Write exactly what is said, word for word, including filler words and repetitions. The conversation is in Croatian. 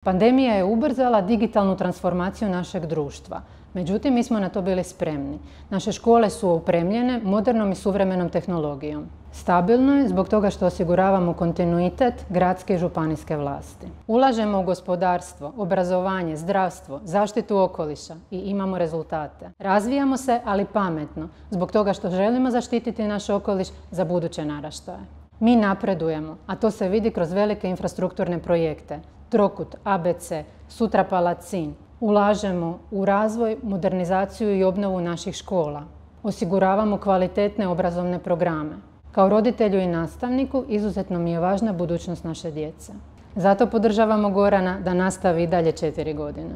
Pandemija je ubrzala digitalnu transformaciju našeg društva. Međutim, mi smo na to bili spremni. Naše škole su opremljene modernom i suvremenom tehnologijom. Stabilno je zbog toga što osiguravamo kontinuitet gradske i županijske vlasti. Ulažemo u gospodarstvo, obrazovanje, zdravstvo, zaštitu okoliša i imamo rezultate. Razvijamo se, ali pametno, zbog toga što želimo zaštititi naš okoliš za buduće naraštaje. Mi napredujemo, a to se vidi kroz velike infrastrukturne projekte. Trokut, A B C, sutra Palacin. Ulažemo u razvoj, modernizaciju i obnovu naših škola. Osiguravamo kvalitetne obrazovne programe. Kao roditelju i nastavniku izuzetno mi je važna budućnost naše djece. Zato podržavamo Gorana da nastavi i dalje četiri godine.